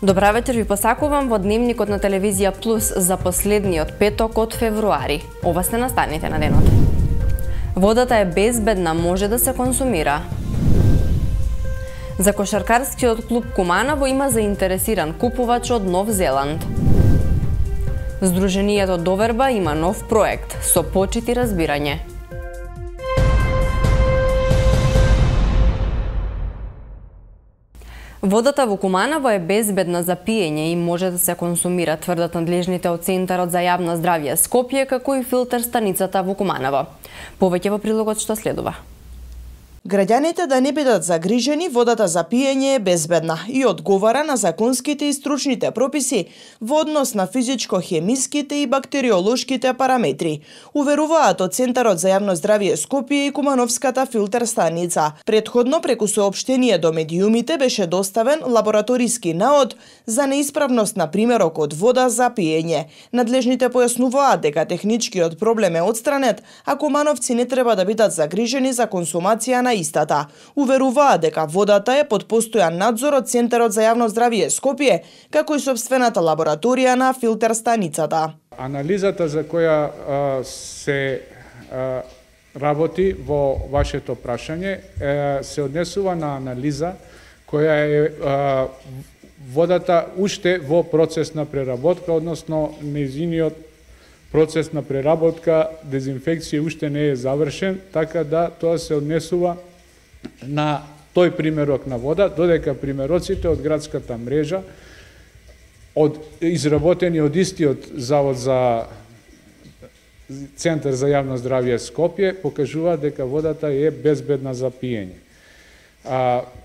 Добра вечер, ви посакувам во дневникот на телевизија Плюс за последниот петок од февруари. Ова сте настаните на денот. Водата е безбедна, може да се консумира. За кошаркарскиот клуб Куманово има заинтересиран купувач од Нов Зеланд. Сдруженијето Доверба има нов проект со почит и разбирање. Водата во Куманово е безбедна за пиење и може да се консумира, тврдат надлежните од Центарот за јавно здравје Скопје, како и филтер станицата во Куманово. Повеќе во прилогот што следува. Граѓаните да не бидат загрижени, водата за пиење е безбедна и одговара на законските и стручните прописи во однос на физичко-хемиските и бактериолошките параметри, уверуваат од Центарот за јавно здравје Скопје и Кумановската филтер станица. Претходно преку соопштение до медиумите беше доставен лабораториски наод за неисправност на примерок од вода за пиење. Надлежните појаснуваат дека техничкиот проблем е отстранет, а кумановци не треба да бидат загрижени за консумација на истата. Уверуваат дека водата е под постојан надзор од Центарот за јавно здравје Скопје, како и сопствената лабораторија на филтер станицата. Анализата за која се работи во вашето прашање се однесува на анализа која е водата уште во процес на преработка, односно нејзиниот процес на преработка, дезинфекција уште не е завршен, така да тоа се однесува на тој примерок на вода, додека примероците од градската мрежа, изработени од истиот Завод за Центар за јавно здравје Скопје, покажуваат дека водата е безбедна за пиење.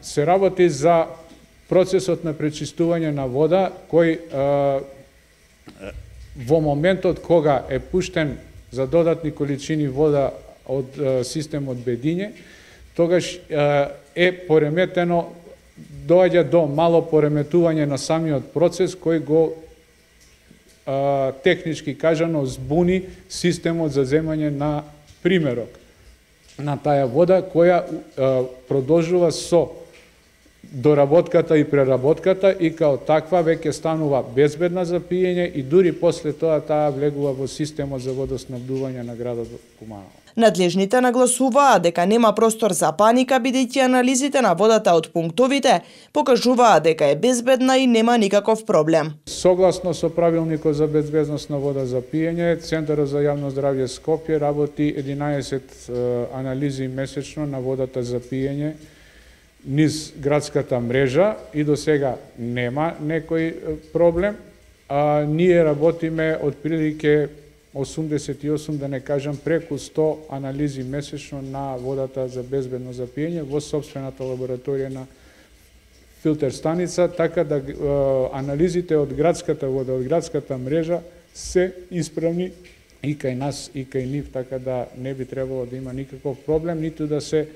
Се работи за процесот на пречистување на вода, кој во моментот кога е пуштен за додатни количини вода од системот Бедиње, тогаш е пореметено, доаѓа до мало пореметување на самиот процес кој го технички кажано збуни системот за земање на примерок на таа вода која продолжува со доработката и преработката и као таква веќе станува безбедна за пиење и дури после тоа таа влегува во системот за водоснабдување на градот Куманово. Надлежните нагласуваат дека нема простор за паника, бидејќи анализите на водата од пунктовите покажуваат дека е безбедна и нема никаков проблем. Согласно со правилникот за безбедност на вода за пиење, Центарот за јавно здравје Скопје работи 11 анализи месечно на водата за пиење низ градската мрежа и до сега нема некој проблем. Ние работиме отприлике 88, да не кажам преку 100 анализи месечно на водата за безбедно за пиење во сопствената лабораторија на филтер станица, така да анализите од градската вода, од градската мрежа се исправни и кај нас и кај нив, така да не би требало да има никаков проблем, ниту да се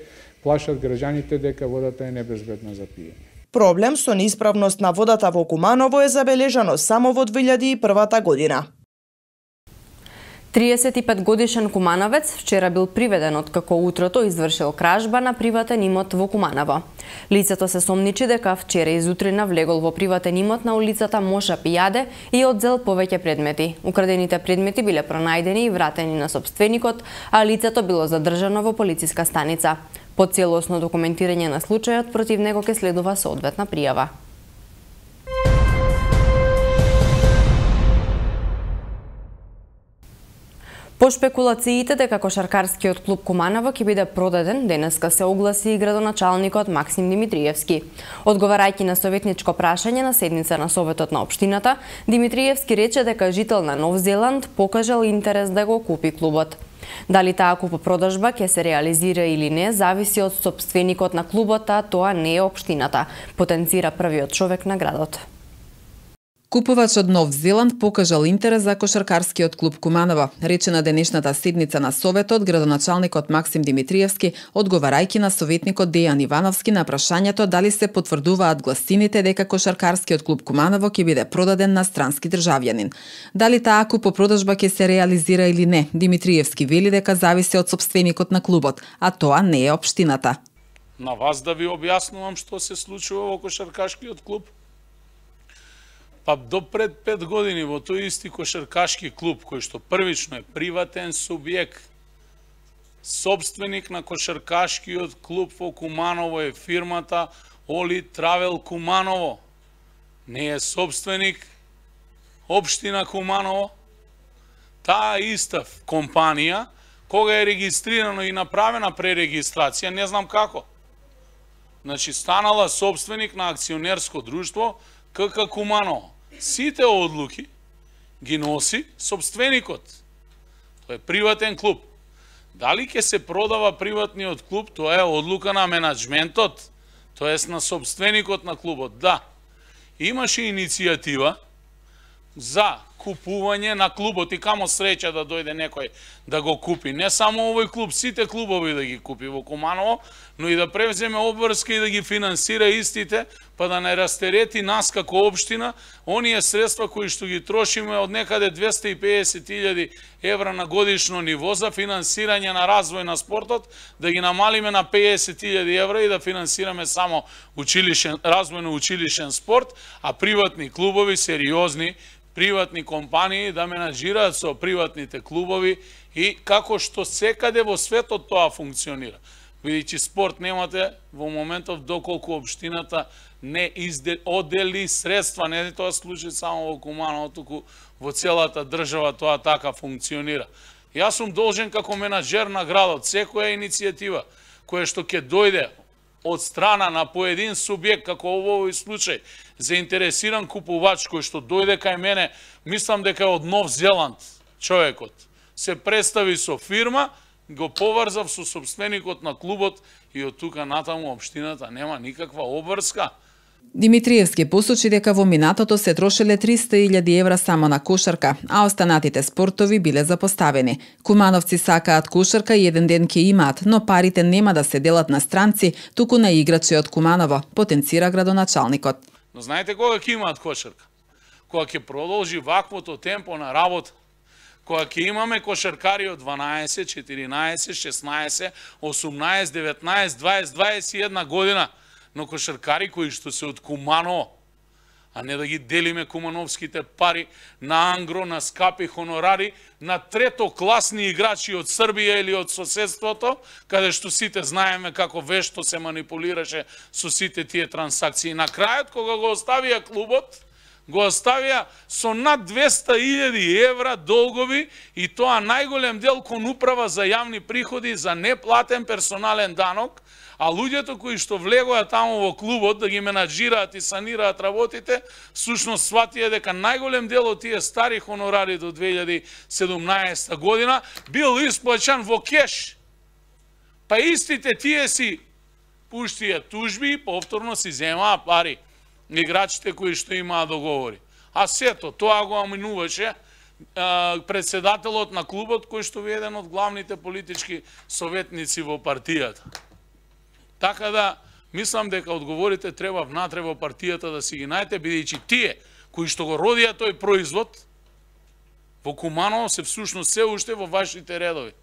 плашат граѓаните дека водата е небезбедна за пиење. Проблем со неисправност на водата во Куманово е забележано само во 2001 година. 35 годишен кумановец вчера бил приведен откако утрото извршил кражба на приватен имот во Куманово. Лицето се сомничи дека вчера изутрина влегол во приватен имот на улицата Моша Пијаде и одзел повеќе предмети. Украдените предмети биле пронајдени и вратени на сопственикот, а лицето било задржано во полициска станица. По целосно документирање на случајот против него ќе следува соодветна пријава. По шпекулациите дека кошаркарскиот клуб Куманово ќе биде продаден, денеска се огласи и градоначалникот Максим Димитриевски. Одговарајќи на советничко прашање на седница на Советот на општината, Димитриевски рече дека жител на Нов Зеланд покажал интерес да го купи клубот. Дали таа купопродажба ќе се реализира или не, зависи од сопственикот на клубот, а тоа не е општината, потенцира првиот човек на градот. Купувач од Нов Зеланд покажал интерес за кошаркарскиот клуб Куманово, рече на денешната седница на Советот градоначалникот Максим Димитриевски, одговарајќи на советникот Дејан Ивановски на прашањето дали се потврдуваат гласините дека кошаркарскиот клуб Куманово ќе биде продаден на странски државјанин. Дали таа купопродажба ќе се реализира или не, Димитриевски вели дека зависи од сопственикот на клубот, а тоа не е општината. На вас да ви објаснувам што се случува во кошаркашкиот клуб. Па до пред 5 години во тој исти кошаркашки клуб, кој што првично е приватен субјект, собственик на кошаркашкиот клуб во Куманово е фирмата Оли Травел Куманово. Не е собственик општина Куманово. Таа иста компанија, кога е регистрирано и направена пререгистрација, не знам како. Значи, станала собственик на акционерско друштво КК Куманово. Сите одлуки ги носи собственикот. Тоа е приватен клуб. Дали ќе се продава приватниот клуб, тоа е одлука на менаџментот, тоест на собственикот на клубот. Да, имаше иницијатива за купување на клубот и камо среќа да дојде некој да го купи. Не само овој клуб, сите клубови да ги купи во Куманово, но и да превземе обврска и да ги финансира истите, па да не растерети нас како општина, оние средства кои што ги трошиме од некаде 250.000 евра на годишно ниво за финансирање на развој на спортот, да ги намалиме на 50.000 евра и да финансираме само развојно училишен спорт, а приватни клубови, сериозни, приватни компании да менаџираат со приватните клубови и како што секаде во светот тоа функционира. Бидејќи спорт немате во моментов доколку општината не одели средства, не е тоа случај само во Куманово, туку во целата држава тоа така функционира. Јас сум должен како менаџер на градот, секоја иницијатива која што ќе дојде од страна на поедин субјект, како во овој случај, заинтересиран купувач кој што дојде кај мене, мислам дека е од Нов Зеланд човекот. Се представи со фирма, го поврзав со собственикот на клубот и од тука натаму општината нема никаква обврска. Димитриевски посочи дека во минатото се трошеле 300.000 евра само на кошарка, а останатите спортови биле запоставени. Кумановци сакаат кошарка и еден ден ќе имаат, но парите нема да се делат на странци, туку на играчи од Куманово, потенцира градоначалникот. Но знаете кога ќе имаат кошарка? Кога ќе продолжи ваквото темпо на работа. Кога ќе имаме кошаркари од 12, 14, 16, 18, 19, 20, 21 година, но кошаркари кои што се од Куманово, а не да ги делиме кумановските пари на ангро, на скапи хонорари, на третокласни играчи од Србија или од соседството, каде што сите знаеме како вешто се манипулираше со сите тие трансакции. На крајот, кога го оставија клубот, го оставија со над 200.000 евра долгови и тоа најголем дел кон управа за јавни приходи за неплатен персонален данок, а луѓето кои што влегоа таму во клубот да ги менаџираат и санираат работите, всушност сватија дека најголем дел од тие стари хонорари до 2017 година бил исплаќан во кеш. Па истите тие си пуштија тужби и повторно си земаа пари играчите кои што имаа договори. А сето, тоа го аминуваше председателот на клубот, кој што е еден од главните политички советници во партијата. Така да, мислам дека одговорите треба внатре во партијата да си ги најдете, бидејќи тие кои што го родија тој производ во Куманово се всушност се уште во вашите редови.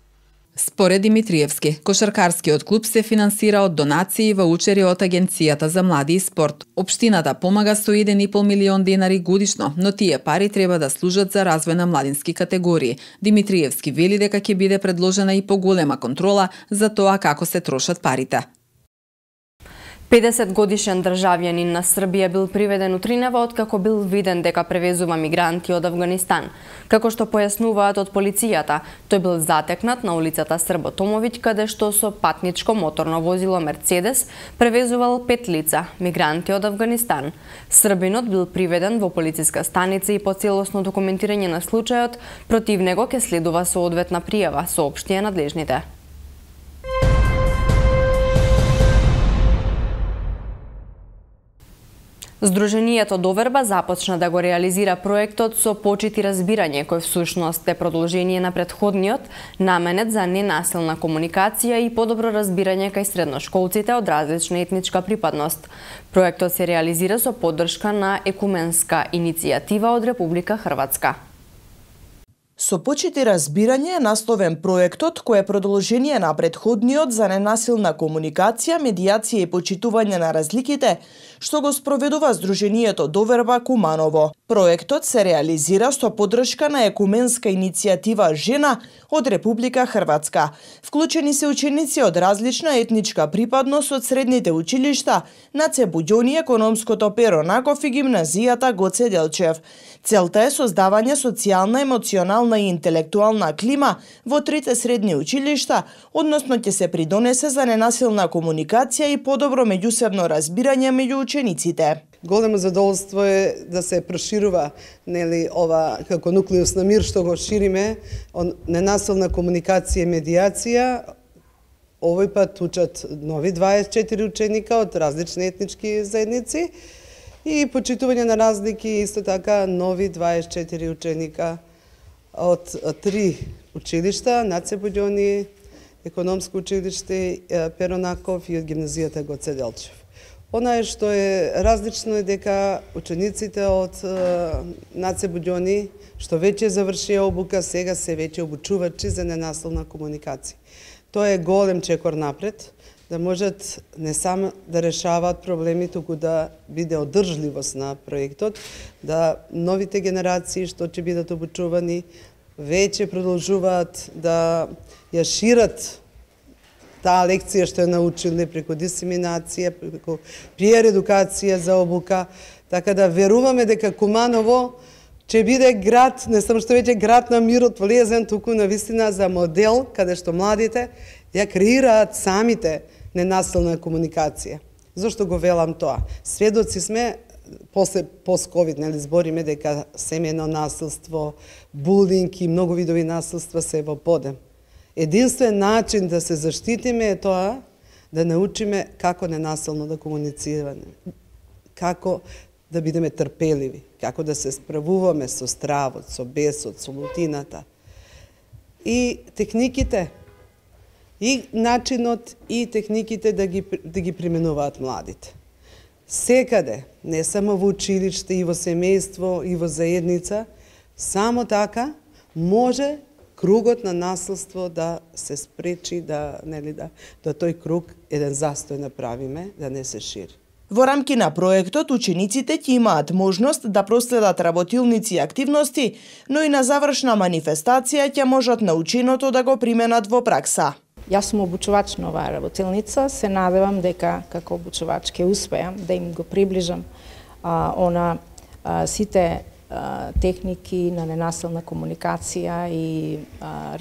Според Димитриевски, кошаркарскиот клуб се финансира од донации и ваучери од Агенцијата за млади и спорт. Општината помага со 1,5 милион денари годишно, но тие пари треба да служат за развој на младински категории. Димитриевски вели дека ќе биде предложена и поголема контрола за тоа како се трошат парите. 50-годишен државјанин на Србија бил приведен утринава откако бил виден дека превезува мигранти од Авганистан. Како што појаснуваат од полицијата, тој бил затекнат на улицата Србо Томовиќ, каде што со патничко моторно возило Мерцедес превезувал 5 лица, мигранти од Авганистан. Србинот бил приведен во полициска станица и по целосно документирање на случајот, против него ќе следува соодветна пријава, соопштија надлежните. Здруженијето Доверба започна да го реализира проектот со почит и разбирање, кој всушност е продолжение на претходниот, наменет за ненасилна комуникација и подобро разбирање кај средношколците од различна етничка припадност. Проектот се реализира со поддршка на екуменска иницијатива од Република Хрватска. Со почит и разбирање е насловен проектот кој е продолжение на претходниот за ненасилна комуникација, медијација и почитување на разликите, што го спроведува Сдруженијето Доверба Куманово. Проектот се реализира со поддршка на екуменска иницијатива Жена од Република Хрватска. Вклучени се ученици од различна етничка припадност од средните училишта Наце Буѓони, економското Перо Наков и гимназијата Гоце Делчев. Целта е создавање социјална, емоционална и интелектуална клима во трите средни училишта, односно ќе се придонесе за ненасилна комуникација и подобро меѓусебно разбирање меѓу учениците. Големо задоволство е да се проширува ова како нуклеус на мир што го шириме, ненасилна комуникација и медијација. Овој пат учат нови 24 ученика од различни етнички заедници и почитување на разлики, исто така нови 24 ученика од 3 училишта, Наце Буѓони, економско училиште Перо Наков и од гимназијата Гоце Делчев. Она што е различно е дека учениците од Наце Буѓони, што веќе завршија обука, сега се веќе обучувачи за ненасилна комуникација. Тоа е голем чекор напред, да можат не само да решаваат проблеми, туку да биде одржливост на проектот, да новите генерации што ќе бидат обучувани веќе продолжуваат да ја шират таа лекција што е научиле преку дисеминација, преку PR едукација за обука, така да веруваме дека Куманово ќе биде град, не само што веќе град на мирот полезен, туку на вистина за модел каде што младите ја креираат самите ненасилна комуникација. Зошто го велам тоа? Сведоци сме, после пост-ковид, збориме дека семејно насилство, булинг и многу видови насилства се во подем. Единствен начин да се заштитиме е тоа да научиме како ненасилно да комуницираме, како да бидеме трпеливи, како да се справуваме со стравот, со бесот, со лутината. И техниките, и начинот, и техниките да ги применуваат младите. Секаде, не само во училиште, и во семејство, и во заедница, само така може кругот на насилство да се спречи, да тој круг еден застој направиме, да не се шири. Во рамки на проектот, учениците ќе имаат можност да проследат работилници и активности, но и на завршна манифестација ќе можат наученото да го применат во пракса. Јас сум обучувач на оваа работилница, се надевам дека како обучувач ќе успеам да им го приближам сите техники на ненасилна комуникација и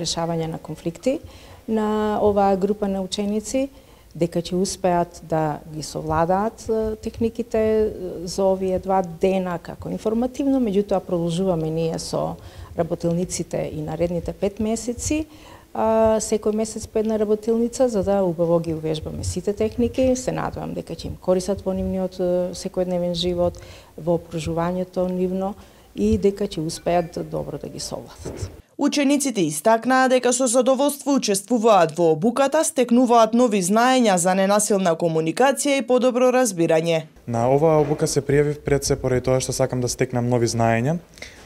решавање на конфликти на оваа група на ученици, дека ќе успеат да ги совладаат техниките за овие 2 дена како информативно, меѓутоа продолжуваме ние со работилниците и наредните 5 месеци, секој месец по една работилница, за да убаво ги увежбаме сите техники. Се надевам дека ќе им користат во нивниот секојдневен живот, во обкружувањето нивно и дека ќе успеат добро да ги совладат. Учениците истакнаа дека со задоволство учествуваат во обуката, стекнуваат нови знаења за ненасилна комуникација и подобро разбирање. На оваа обука се пријавив пред се поради тоа што сакам да стекнам нови знаења,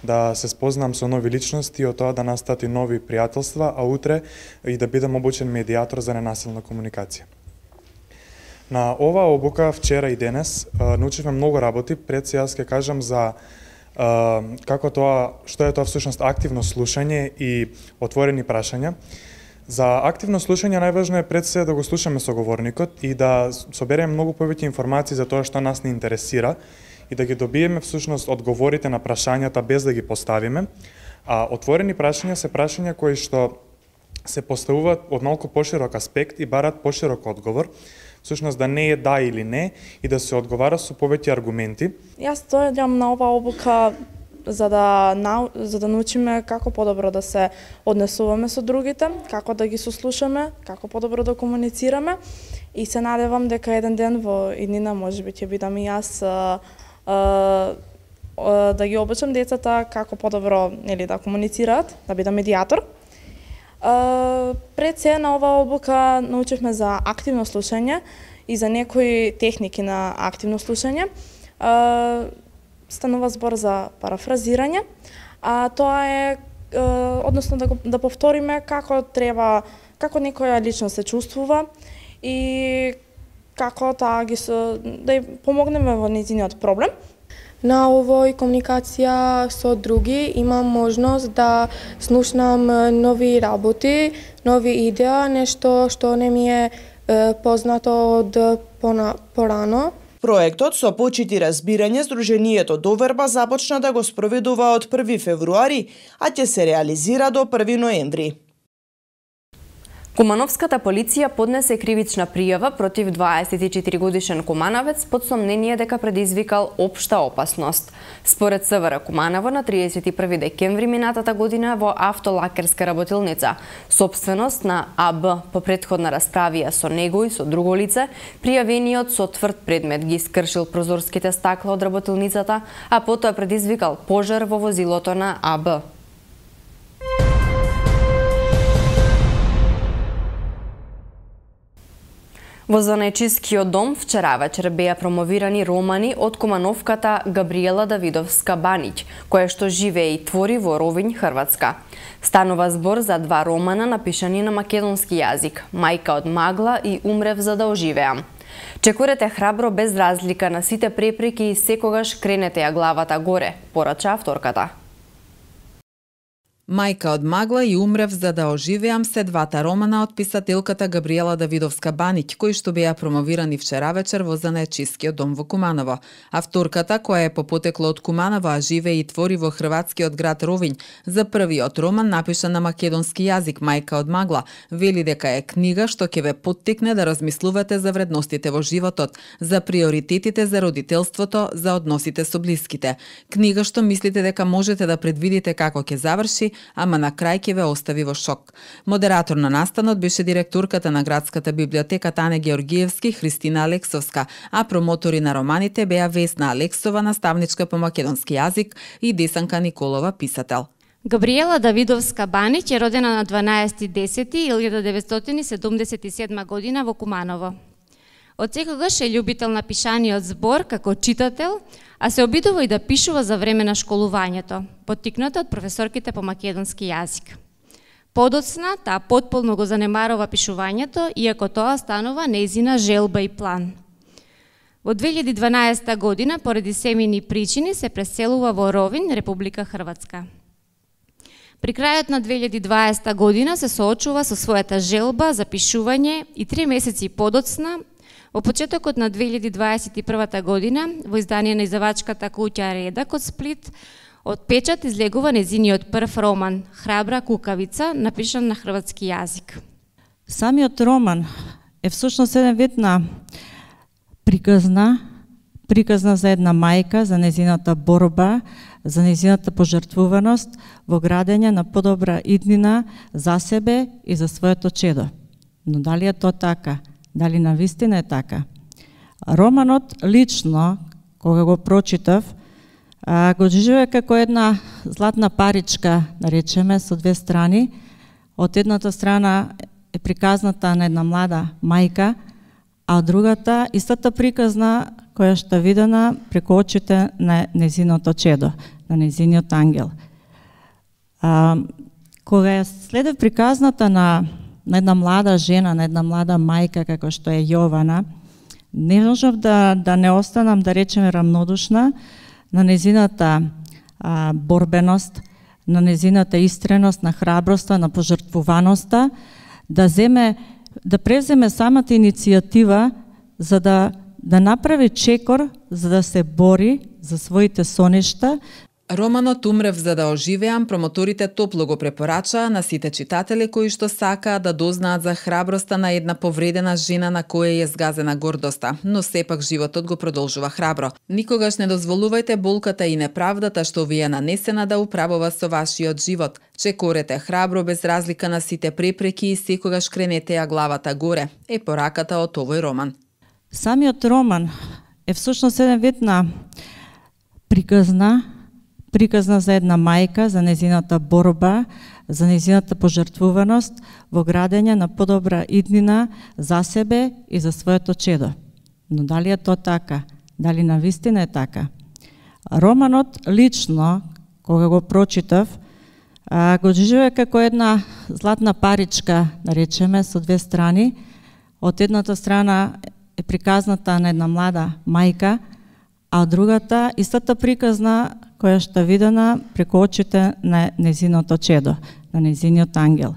да се спознам со нови личности и од тоа да настат и нови пријателства, а утре и да бидам обучен медијатор за ненасилна комуникација. На оваа обука вчера и денес научивме многу работи. Пред се јас ќе кажам за што е тоа всушност активно слушање и отворени прашања. За активно слушање најважно е пред се да го слушаме соговорникот и да собереме многу повеќе информации за тоа што нас не интересира и да ги добиеме всушност одговорите на прашањата без да ги поставиме. А отворени прашања се прашања кои што се поставуваат од малку поширок аспект и бараат поширок одговор. Всушност да не е да или не и да се одговара со повеќе аргументи. Јас дојдам на оваа обука за да научиме како подобро да се однесуваме со другите, како да ги сослушаме, како подобро да комуницираме и се надевам дека еден ден во иднина можеби ќе бидам и јас да ги обучам децата како подобро да комуницираат, да бидам медијатор. Пред се на оваа обука научивме за активно слушање и за некои техники на активно слушање. Станува збор за парафразирање, а тоа е односно да повториме како треба, како некоја личност се чувствува и како да ја помогнеме во нејзиниот проблем. На овој комуникација со други имам можност да слушнам нови работи, нови идеја, нешто што не ми е познато од порано. Проектот со почит и разбирање Сдруженијето Доверба започна да го спроведува од 1 февруари, а ќе се реализира до 1 ноември. Кумановската полиција поднесе кривична пријава против 24-годишен куманавец под сомнение дека предизвикал општа опасност. Според СВР Куманово на 31 декември минатата година во автолакерска работилница, сопственост на АБ, по претходна расправија со него и со друго лице, пријавениот со тврд предмет ги скршил прозорските стакла од работилницата, а потоа предизвикал пожар во возилото на АБ. Во Занечискиот дом вчера вечер беа промовирани романи од кумановката Габриела Давидовска Баниќ, која што живее и твори во Ровињ, Хрватска. Станува збор за 2 романа напишани на македонски јазик, Мајка од магла и Умрев за да оживеам. Чекорете храбро без разлика на сите препреки и секогаш кренете ја главата горе, порача авторката. Мајка од магла и Умрев за да оживеам се 2 романа од писателката Габриела Давидовска Баниќ, кои што беа промовирани вчера вечер во Занечискиот дом во Куманово. Авторката, која е по потекло од Куманово, а живее и твори во хрватскиот град Ровињ, за првиот роман напишан на македонски јазик, Мајка од магла, вели дека е книга што ќе ве поттикне да размислувате за вредностите во животот, за приоритетите за родителството, за односите со блиските. Книга што мислите дека можете да предвидите како ќе заврши, ама на крај ќе ве остави во шок. Модератор на настанот беше директорката на градската библиотека Тане Георгиевски, Христина Алексовска, а промотори на романите беа Весна Алексова, наставничка по македонски јазик, и Десанка Николова, писател. Габриела Давидовска Баниќ е родена на 12.10.1977 година во Куманово. Од секогаш е љубител на пишаниот збор како читател, а се обидува и да пишува за време на школувањето, поттикната од професорките по македонски јазик. Подоцна, таа потполно го занемарува пишувањето, иако тоа станува нејзина желба и план. Во 2012 година, поради семејни причини, се преселува во Ровињ, Република Хрватска. При крајот на 2020 година се соочува со својата желба за пишување и 3 месеци подоцна, во почетокот на 2021 година, во издание на издавачката куќа Редак од Сплит, од печат излегува нејзиниот прв роман Храбра кукавица, напишан на хрватски јазик. Самиот роман е всушност еден вид на приказна за една мајка, за нејзината борба, за нејзината пожртвуваност во градење на подобра иднина за себе и за своето чедо. Но дали е тоа така? Дали навистина е така? Романот лично, кога го прочитав, го доживеа како една златна паричка, да речеме, со 2 страни. Од едната страна е приказната на една млада мајка, а од другата истата приказна која што видена преку очите на нејзиното чедо, на нејзиниот ангел. Кога ја следев приказната на една млада жена, на една млада мајка како што е Јована, не можев да не останам, да речеме, рамнодушна на нејзината борбеност, на нејзината истреност, на храброста, на пожртвуваноста, да преземе самата иницијатива за да направи чекор, за да се бори за своите соништа. Романот Умрев за да оживеам промоторите топло го препорачаа на сите читатели кои што сакаат да дознаат за храброста на една повредена жена на која е згазена гордоста, но сепак животот го продолжува храбро. Никогаш не дозволувајте болката и неправдата што ви е нанесена да управува со вашиот живот. Чекорете храбро без разлика на сите препреки и секогаш кренете ја главата горе, е пораката од овој роман. Самиот роман е всушност еден вид на приказна за една мајка, за нејзината борба, за нејзината пожртвуваност во градење на подобра иднина за себе и за своето чедо. Но дали е тоа така? Дали навистина е така? Романот лично, кога го прочитав, го живее како една златна паричка, наречеме, со две страни. Од едната страна е приказната на една млада мајка, а од другата истата приказна која што видена преку очите на незиното чедо, на незиниот ангел.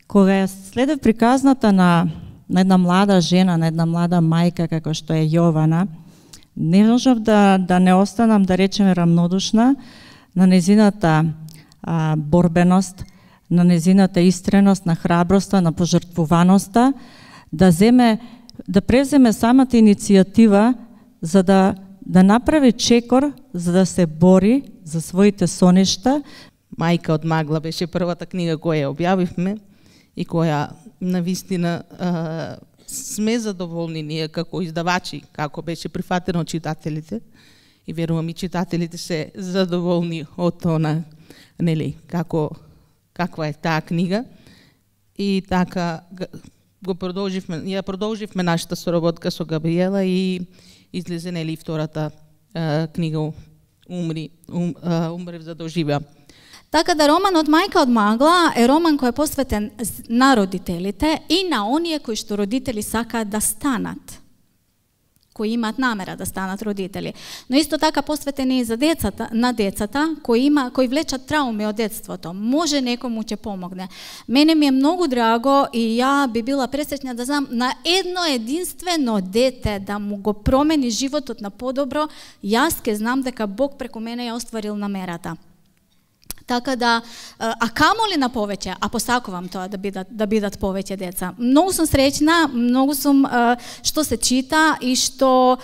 Кога ја следев приказната на една млада жена, на една млада мајка како што е Јована, не можев да не останам, да речеме, рамнодушна на незината борбеност, на незината истреност, на храброста, на пожртвуваноста, да превземе самата иницијатива за да направи чекор, за да се бори за своите соништа. Мајка од магла беше првата книга која ја објавивме и која навистина сме задоволни ние како издавачи, како беше прифатено од читателите, и верувам и читателите се задоволни од она, нели, каква е таа книга. И така ја продолживме нашата соработка со Габриела и излезе, нели, втората книга Умрев за да оживеам. Така да романот Мајка од магла е роман кој е посветен на родителите и на оние кои што родители сакаат да станат, кои имаат намера да станат родители. Но исто така посветен и за децата, на децата кои влечат трауми од детството. Може некому ќе помогне. Мене ми е многу драго и ја би била пресреќна да знам на едно единствено дете да му го промени животот на подобро. Јас ке знам дека Бог преку мене ја остварил намерата. Така да, а камоли на повеќе, а посакувам тоа да бидат повеќе деца. Многу сум среќна, многу сум што се чита и што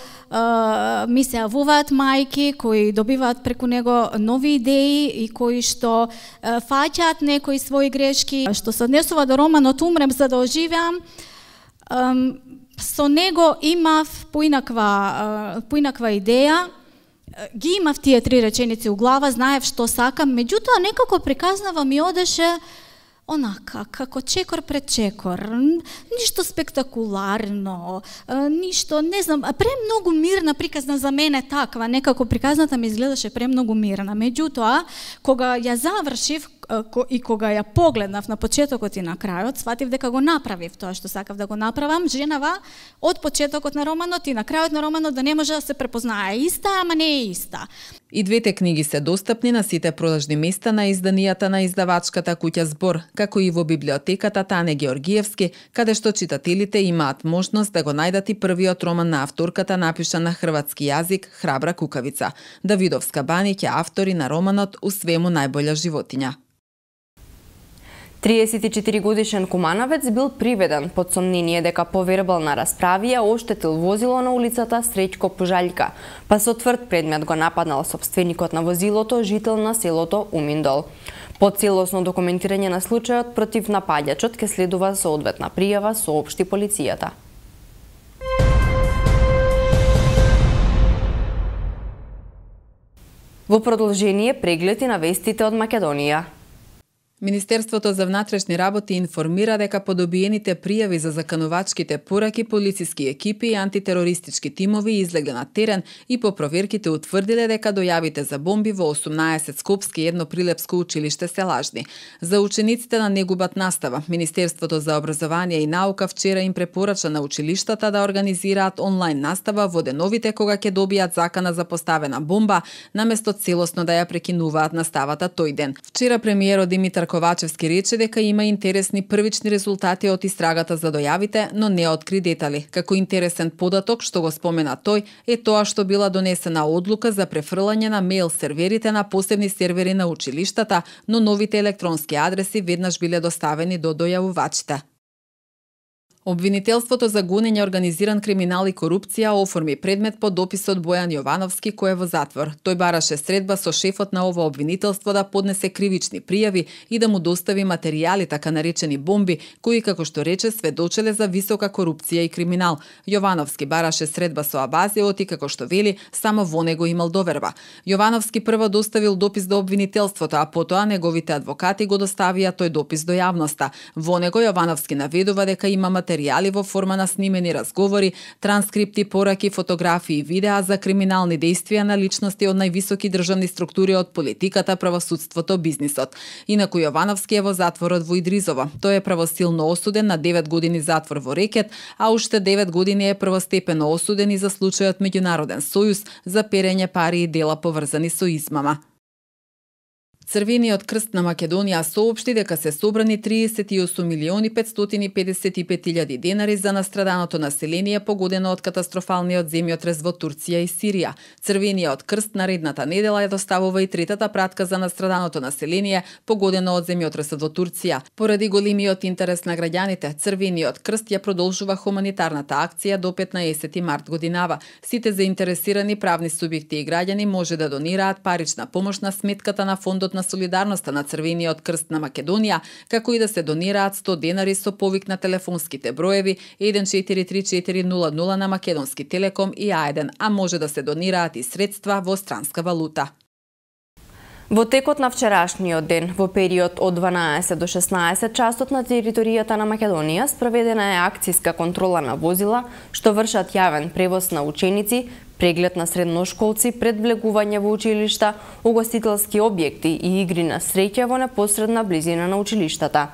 ми се јавуваат мајки кои добиваат преку него нови идеи и кои што фаќаат некои своји грешки. Што се однесува до романот Умрем за да оживеам, со него имав поинаква идеја. Ги имав тие 3 реченици у глава, знаев што сакам, меѓутоа некако приказнава ми одеше онака, како чекор пред чекор, ништо спектакуларно, ништо, не знам, премногу мирна приказна за мене таква, некако приказната ми изгледаше премногу мирна. Меѓутоа, кога ја завршив и кога ја погледнав на почетокот и на крајот, сватив дека го направив тоа што сакав да го направам, женава од почетокот на романот и на крајот на романот да не може да се препознае иста, ама не е иста. И двете книги се достапни на сите продажни места на изданијата на издавачката куќа Збор, како и во библиотеката Тане Георгиевски, каде што читателите имаат можност да го најдат и првиот роман на авторката напишан на хрватски јазик Храбра кукавица. Давидовска Баниќ е автори на романот У свему најбоља животиња. 34-годишен куманавец бил приведен под сомнение дека по вербална расправија оштетил возило на улицата Среќко Пожаљка, па со тврд предмет го нападнал собственикот на возилото, жител на селото Уминдол. По целосно документирање на случајот против напаѓачот ке следува соодветна пријава, соопшти полицијата. Во продолжение преглед и на вестите од Македонија. Министерството за внатрешни работи информира дека по добиените пријави за заканувачките пораки, полициски екипи и антитерористички тимови излегле на терен и по проверките утврдиле дека дојавите за бомби во 18 скопски и едно прилепско училиште се лажни. За учениците да не губат настава, Министерството за образование и наука вчера им препорача на училиштата да организираат онлайн настава во деновите кога ќе добијат закана за поставена бомба, наместо целосно да ја прекинуваат наставата тој ден. Вчера премиерот Димитар Ковачевски рече дека има интересни првични резултати од истрагата за дојавите, но не откри детали. Како интересен податок што го спомена тој е тоа што била донесена одлука за префрлање на мејл серверите на посебни сервери на училиштата, но новите електронски адреси веднаш биле доставени до дојавувачите. Обвинителството за гонење организиран криминал и корупција оформи предмет по дописот Бојан Јовановски кој е во затвор. Тој бараше средба со шефот на ова обвинителство да поднесе кривични пријави и да му достави материјали, така наречени бомби, кои како што рече сведочеле за висока корупција и криминал. Јовановски бараше средба со Абазиот и како што вели, само во него имал доверба. Јовановски прво доставил допис до обвинителството, а потоа неговите адвокати го доставија тој допис до јавноста. Во него Јовановски наведува дека има материјали материјали во форма на снимени разговори, транскрипти, пораки, фотографии и видеа за криминални дејствија на личности од највисоки државни структури од политиката, правосудството, бизнисот. Инаку Јовановски е во затворот во Идризово. Тој е правосилно осуден на 9 години затвор во Рекет, а уште 9 години е првостепено осуден и за случајот Меѓународен сојуз за перење пари и дела поврзани со измама. Црвениот крст на Македонија соопшти дека се собрани 38.555.000 денари за настраданото население погодено од катастрофалниот земјотрес во Турција и Сирија. Црвениот крст наредната недела ја доставува и третата пратка за настраданото население погодено од земјотресот во Турција. Поради големиот интерес на граѓаните, Црвениот крст ја продолжува хуманитарната акција до 15 март годинава. Сите заинтересирани правни субјекти и граѓани може да донираат парична помош на сметката на фондот на солидарноста на Црвениот крст на Македонија, како и да се донираат 100 денари со повик на телефонските броеви 143400 на Македонски Телеком и А1, а може да се донираат и средства во странска валута. Во текот на вчерашниот ден, во период од 12 до 16 часот на територијата на Македонија, спроведена е акцијска контрола на возила што вршат јавен превоз на ученици, преглед на средношколци пред влегување во училишта, угостителски објекти и игри на среќа во непосредна близина на училиштата.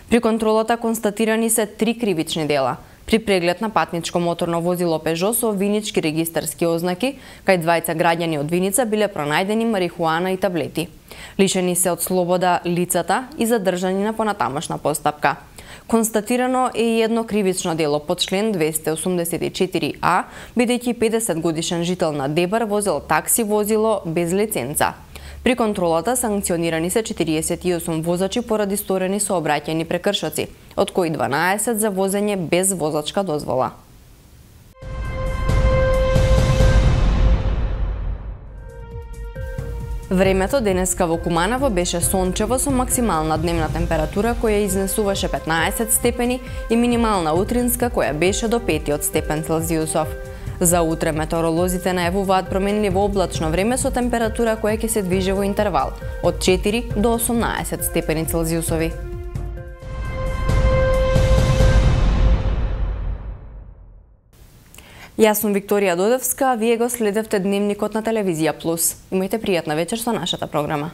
При контролата констатирани се 3 кривични дела. При преглед на патничко моторно возило Пежо со винички регистарски ознаки, кај двајца граѓани од Виница биле пронајдени марихуана и таблети. Лишени се од слобода лицата и задржани на понатамошна постапка. Констатирано е и едно кривично дело под член 284а, бидејќи 50 годишен жител на Дебар возел такси возило без лиценца. При контролата санкционирани се 48 возачи поради сторени сообраќајни прекршоци, од кои 12 за возење без возачка дозвола. Времето денеска во Куманово беше сончево со максимална дневна температура која изнесуваше 15 степени и минимална утринска која беше до 5 степен Целзиусов. За утре метеоролозите најавуваат променливо облачно време со температура која ќе се движи во интервал од 4 до 18 степени Целзиусови. Јас сум Викторија Додевска, а вие го следевте Дневникот на Телевизија Плюс. Имајте пријатна вечер со нашата програма.